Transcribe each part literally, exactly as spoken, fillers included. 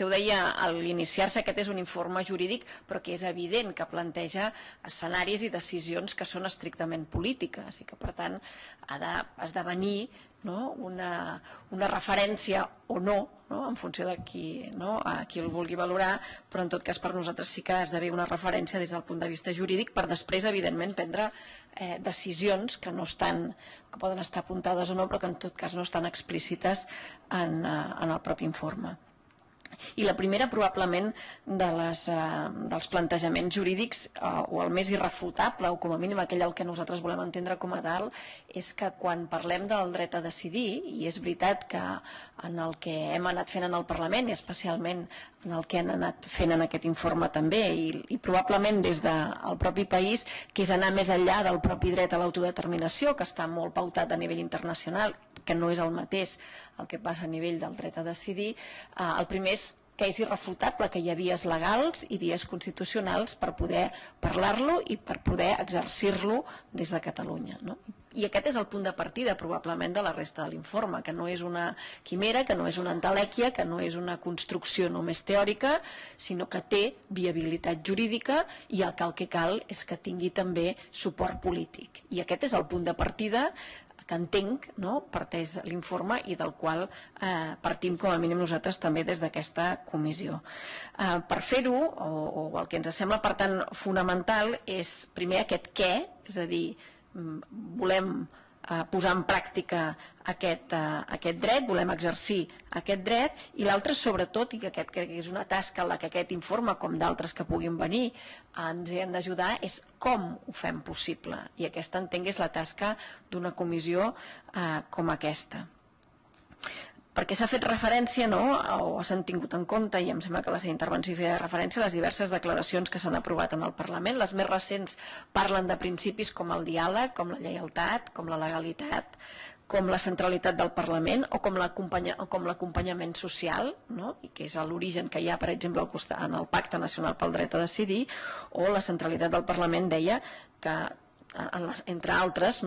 vostè ho deia, a l'iniciar-se aquest és un informe jurídic, però que és evident que planteja escenaris i decisions que són estrictament polítiques i que, per tant, ha d'esdevenir una referència o no, en funció de qui el vulgui valorar, però en tot cas per nosaltres sí que esdevé una referència des del punt de vista jurídic per després, evidentment, prendre decisions que no estan, que poden estar apuntades o no, però que en tot cas no estan explícites en el propi informe. I la primera, probablement, dels plantejaments jurídics, o el més irrefutable, o com a mínim aquell el que nosaltres volem entendre com a tal, és que quan parlem del dret a decidir, i és veritat que en el que hem anat fent en el Parlament, i especialment en el que han anat fent en aquest informe també, i probablement des del propi país, que és anar més enllà del propi dret a l'autodeterminació, que està molt pautat a nivell internacional, que no és el mateix el que passa a nivell del dret a decidir. El primer és que és irrefutable que hi ha vies legals i vies constitucionals per poder parlar-lo i per poder exercir-lo des de Catalunya. I aquest és el punt de partida, probablement, de la resta de l'informe, que no és una quimera, que no és una entelèquia, que no és una construcció només teòrica, sinó que té viabilitat jurídica i el que el que cal és que tingui també suport polític. I aquest és el punt de partida que entenc, parteix l'informe i del qual partim com a mínim nosaltres també des d'aquesta comissió. Per fer-ho, o el que ens sembla per tant fonamental, és primer aquest què, és a dir, volem posar en pràctica aquest dret, volem exercir aquest dret, i l'altre sobretot, i que aquest crec que és una tasca en la que aquest informe, com d'altres que puguin venir, ens hi han d'ajudar, és com ho fem possible. I aquesta, entenc, és la tasca d'una comissió com aquesta. Perquè s'ha fet referència, o s'han tingut en compte, i em sembla que la seva intervenció feia referència a les diverses declaracions que s'han aprovat en el Parlament. Les més recents parlen de principis com el diàleg, com la lleialtat, com la legalitat, com la centralitat del Parlament o com l'acompanyament social, que és l'origen que hi ha, per exemple, en el Pacte Nacional pel Dret a Decidir, o la centralitat del Parlament deia que, entre altres,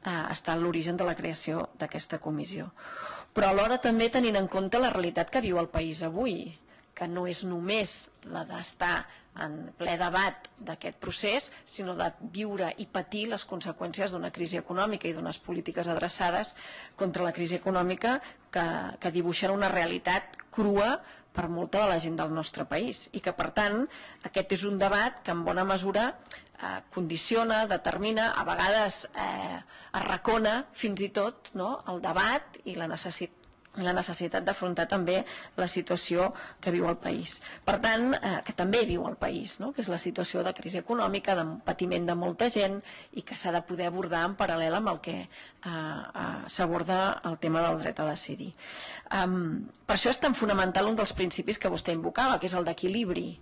està l'origen de la creació d'aquesta comissió. Però alhora també tenint en compte la realitat que viu el país avui, que no és només la d'estar en ple debat d'aquest procés, sinó de viure i patir les conseqüències d'una crisi econòmica i d'unes polítiques adreçades contra la crisi econòmica que dibuixen una realitat crua per molta de la gent del nostre país. I que, per tant, aquest és un debat que en bona mesura condiciona, determina, a vegades arracona fins i tot el debat i la necessitat d'afrontar també la situació que viu el país. Per tant, que també viu el país, que és la situació de crisi econòmica, de patiment de molta gent i que s'ha de poder abordar en paral·lel amb el que s'aborda el tema del dret a decidir. Per això és tan fonamental un dels principis que vostè invocava, que és el d'equilibri.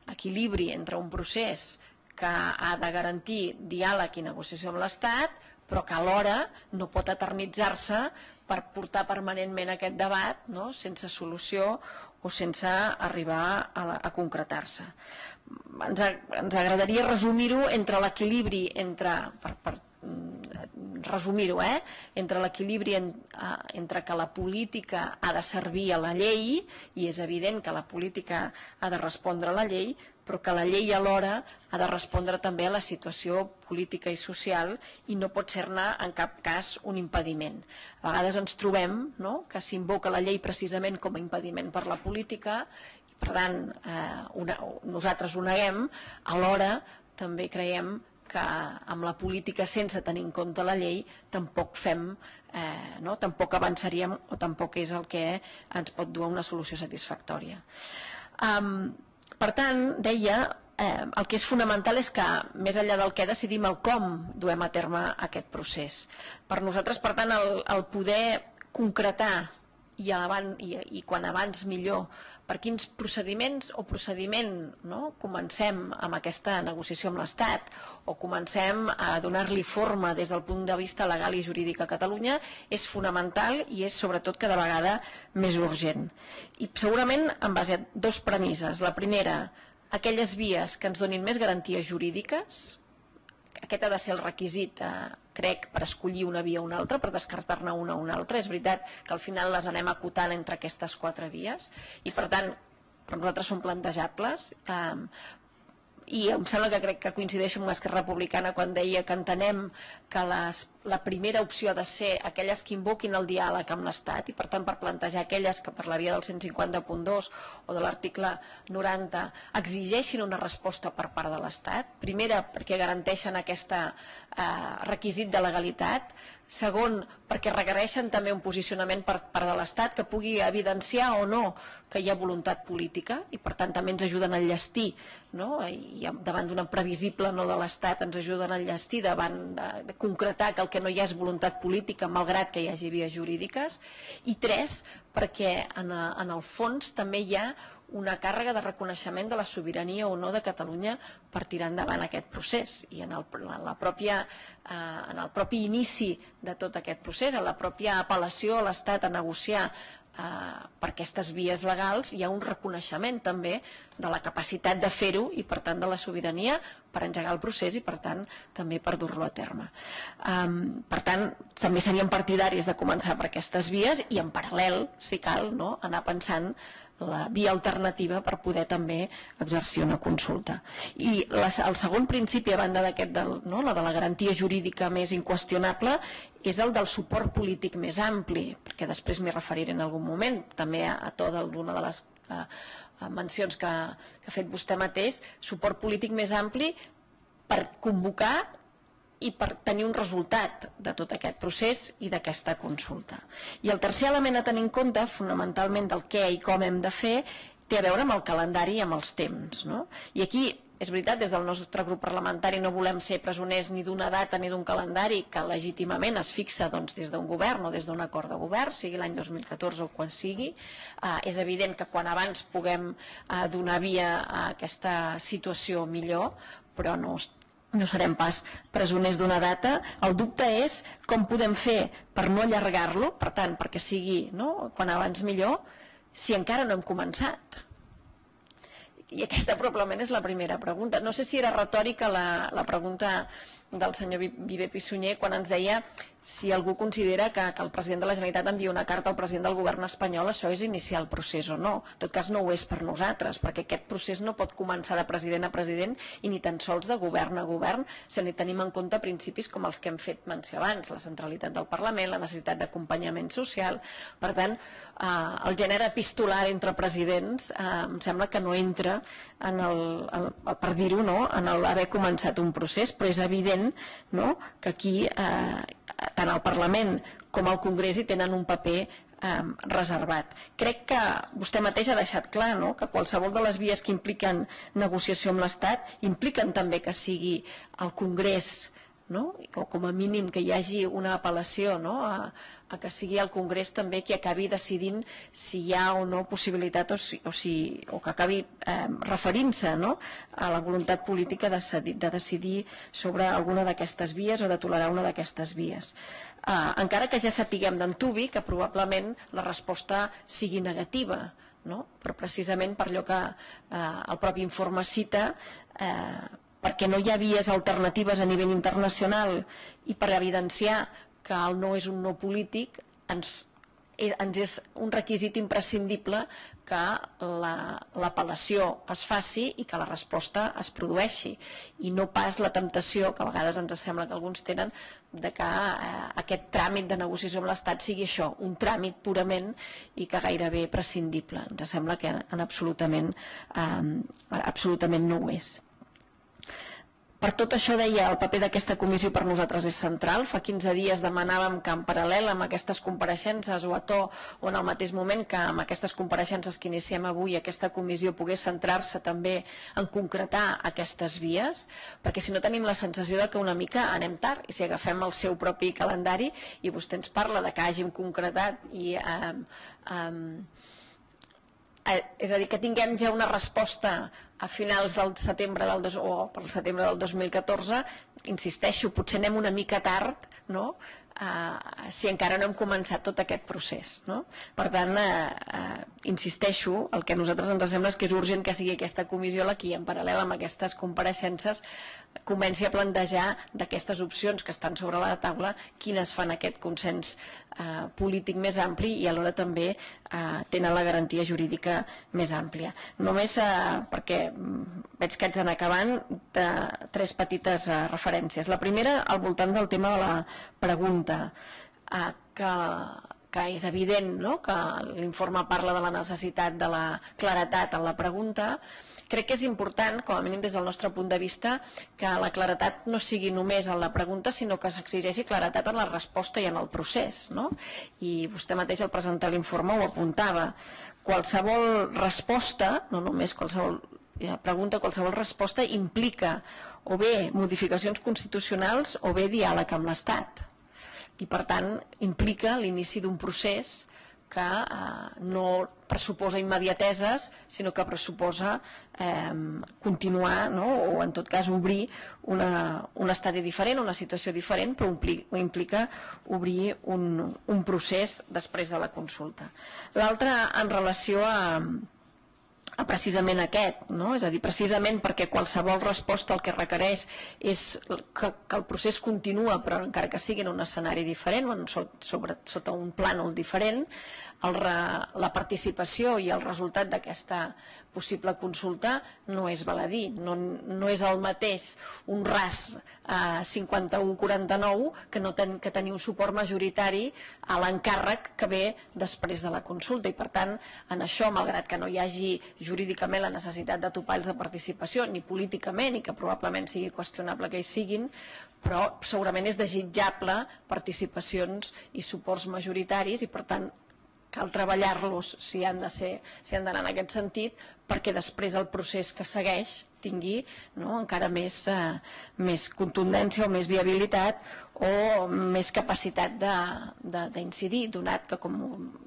Equilibri entre un procés que ha de garantir diàleg i negociació amb l'Estat, però que alhora no pot eternitzar-se per portar permanentment aquest debat sense solució o sense arribar a concretar-se. Ens agradaria resumir-ho entre l'equilibri entre resumir-ho, entre l'equilibri entre que la política ha de servir a la llei, i és evident que la política ha de respondre a la llei, però que la llei alhora ha de respondre també a la situació política i social i no pot ser-ne en cap cas un impediment. A vegades ens trobem que s'invoca la llei precisament com a impediment per la política i per tant nosaltres ho neguem, alhora també creiem que amb la política sense tenir en compte la llei tampoc fem, tampoc avançaríem o tampoc és el que ens pot dur a una solució satisfactòria. Per tant, deia, el que és fonamental és que, més enllà del què, decidim el com duem a terme aquest procés. Per nosaltres, per tant, el poder concretar, i quan abans millor, per quins procediments o procediment comencem amb aquesta negociació amb l'Estat o comencem a donar-li forma des del punt de vista legal i jurídic a Catalunya, és fonamental i és sobretot cada vegada més urgent. I segurament en base a dues premisses. La primera, aquelles vies que ens donin més garanties jurídiques. Aquest ha de ser el requisit, crec, per escollir una via o una altra, per descartar-ne una o una altra. És veritat que al final les anem acotant entre aquestes quatre vies i, per tant, per nosaltres són plantejables, i em sembla que crec que coincideixo amb l'Esquerra Republicana quan deia que entenem que les, la primera opció ha de ser aquelles que invoquin el diàleg amb l'Estat, i per tant per plantejar aquelles que per la via del cent cinquanta punt dos o de l'article noranta exigeixin una resposta per part de l'Estat. Primera, perquè garanteixen aquest eh, requisit de legalitat. Segon, perquè requereixen també un posicionament per part de l'Estat que pugui evidenciar o no que hi ha voluntat política, i per tant també ens ajuden a enllestir, no? I davant d'una previsible no de l'Estat ens ajuden a enllestir, davant de, de concretar que el que no hi ha és voluntat política malgrat que hi hagi vies jurídiques. I tres, perquè en, en el fons també hi ha una càrrega de reconeixement de la sobirania o no de Catalunya per tirar endavant aquest procés, i en el, en la pròpia, eh, en el propi inici de tot aquest procés, en la pròpia apel·lació a l'Estat a negociar eh, per aquestes vies legals, hi ha un reconeixement també de la capacitat de fer-ho i per tant de la sobirania per engegar el procés i per tant també per dur-lo a terme. Um, per tant, també seríem partidaris de començar per aquestes vies i en paral·lel, si cal, no, anar pensant la via alternativa per poder també exercir una consulta. I la, el segon principi, a banda d'aquest, no, la de la garantia jurídica més inqüestionable, és el del suport polític més ampli, perquè després m'hi referiré en algun moment, també a, a to d'una de les a, a mencions que, que ha fet vostè mateix, suport polític més ampli per convocar i per tenir un resultat de tot aquest procés i d'aquesta consulta. I el tercer element a tenir en compte, fonamentalment del què i com hem de fer, té a veure amb el calendari i amb els temps, no? I aquí, és veritat, des del nostre grup parlamentari no volem ser presoners ni d'una data ni d'un calendari que legítimament es fixa doncs, des d'un govern o des d'un acord de govern, sigui l'any dos mil catorze o quan sigui. Eh, és evident que quan abans puguem eh, donar via a aquesta situació millor, però no no serem pas presoners d'una data. El dubte és com podem fer per no allargar-lo, per tant, perquè sigui, no, quan abans millor, si encara no hem començat. I aquesta probablement és la primera pregunta. No sé si era retòrica la, la pregunta del senyor Viver Pissunyer quan ens deia si algú considera que, que el president de la Generalitat envia una carta al president del govern espanyol, això és iniciar el procés o no. En tot cas no ho és per nosaltres, perquè aquest procés no pot començar de president a president i ni tan sols de govern a govern, si ni tenim en compte principis com els que hem fet menció abans, la centralitat del Parlament, la necessitat d'acompanyament social. Per tant, eh, el gènere epistolar entre presidents eh, em sembla que no entra en el, el, per dir-ho, no, en el haver començat un procés, però és evident, no, que aquí eh, tant el Parlament com el Congrés hi tenen un paper eh, reservat. Crec que vostè mateix ha deixat clar, no?, que qualsevol de les vies que impliquen negociació amb l'Estat impliquen també que sigui el Congrés, no?, o com a mínim que hi hagi una apel·lació, no?, a, a que sigui el Congrés també qui acabi decidint si hi ha o no possibilitat o, si, o, si, o que acabi eh, referint-se, no?, a la voluntat política de, de decidir sobre alguna d'aquestes vies o de tolerar una d'aquestes vies. Eh, encara que ja sapiguem d'antuvi que probablement la resposta sigui negativa, no?, però precisament per allò que eh, el propi informe cita, eh, perquè no hi ha vies alternatives a nivell internacional i per evidenciar que el no és un no polític, ens, ens és un requisit imprescindible que l'apel·lació es faci i que la resposta es produeixi, i no pas la temptació, que a vegades ens sembla que alguns tenen, de que eh, aquest tràmit de negociació amb l'Estat sigui això, un tràmit purament i que gairebé prescindible. Ens sembla que en absolutament, eh, absolutament no ho és. Per tot això, deia, el paper d'aquesta comissió per nosaltres és central. Fa quinze dies demanàvem que en paral·lel amb aquestes compareixences o a to o en el mateix moment que amb aquestes compareixences que iniciem avui aquesta comissió pogués centrar-se també en concretar aquestes vies, perquè si no tenim la sensació de que una mica anem tard, i si agafem el seu propi calendari i vostè ens parla de que hàgim concretat i eh, eh, és a dir, que tinguem ja una resposta a finals del setembre del dos, o per setembre del dos mil catorze, insisteixo, potser anem una mica tard, no?, eh, si encara no hem començat tot aquest procés, no? Per tant, eh, eh, insisteixo, el que a nosaltres ens sembla és que és urgent que sigui aquesta comissió la que en paral·lel amb aquestes compareixences comenci a plantejar d'aquestes opcions que estan sobre la taula quines fan aquest consens eh, polític més ampli i alhora també eh, tenen la garantia jurídica més àmplia. Només eh, perquè veig que haig d'anar acabant, de tres petites eh, referències. La primera, al voltant del tema de la pregunta, eh, que, que és evident, no?, que l'informe parla de la necessitat de la claretat en la pregunta. Crec que és important, com a mínim des del nostre punt de vista, que la claretat no sigui només en la pregunta, sinó que s'exigeixi claretat en la resposta i en el procés, no? I vostè mateix al presentar l'informe ho apuntava. Qualsevol resposta, no només qualsevol pregunta, qualsevol resposta implica o bé modificacions constitucionals o bé diàleg amb l'Estat. I per tant implica l'inici d'un procés que eh, no pressuposa immediateses, sinó que pressuposa eh, continuar, no?, o en tot cas obrir una, un estadi diferent, una situació diferent, però implica obrir un, un procés després de la consulta. L'altre, en relació a a precisament aquest, no? És a dir, precisament perquè qualsevol resposta el que requereix és que, que el procés continua, però encara que sigui en un escenari diferent o en, sobre, sota un plànol diferent, el, la participació i el resultat d'aquesta possible consulta no és baladí, no, no és el mateix un ras eh, cinquanta-u quaranta-nou que, no ten, que tenir un suport majoritari a l'encàrrec que ve després de la consulta, i per tant en això, malgrat que no hi hagi jurídicament la necessitat de topalls de participació, ni políticament, i que probablement sigui qüestionable que hi siguin, però segurament és desitjable participacions i suports majoritaris, i per tant cal treballar-los si han de ser, si han d'anar en aquest sentit, perquè després el procés que segueix tingui, no, encara més, eh, més contundència o més viabilitat o més capacitat d'incidir, donat que, com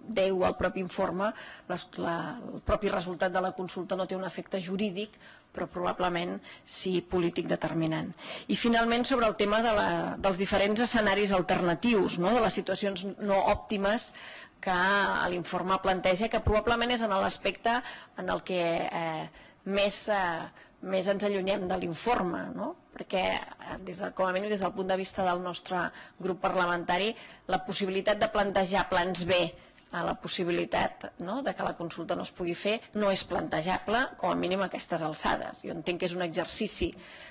deu el propi informe, les, la, el propi resultat de la consulta no té un efecte jurídic, però probablement sí polític determinant. I finalment sobre el tema de la, dels diferents escenaris alternatius, no?, de les situacions no òptimes que l'informe planteja, que probablement és en l'aspecte en el que eh, més, eh, més ens allunyem de l'informe, no? Perquè des de, com a mínim des del punt de vista del nostre grup parlamentari, la possibilitat de plantejar plans B a la possibilitat, no?, de que la consulta no es pugui fer no és plantejable, com a mínim a aquestes alçades. Jo entenc que és un exercici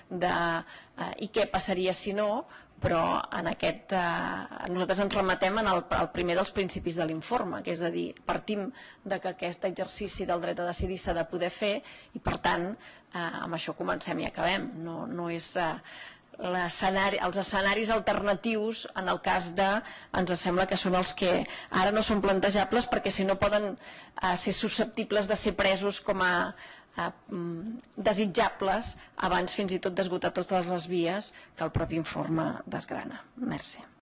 de eh, i què passaria si no, però en aquest, eh, nosaltres ens remetem en el, el primer dels principis de l'informe, que és a dir, partim de que aquest exercici del dret a decidir s'ha de poder fer i per tant eh, amb això comencem i acabem. No, no és... Eh, els escenaris alternatius en el cas de, ens sembla que són els que ara no són plantejables perquè si no poden eh, ser susceptibles de ser presos com a eh, desitjables abans fins i tot d'esgotar totes les vies que el propi informe desgrana. Merci.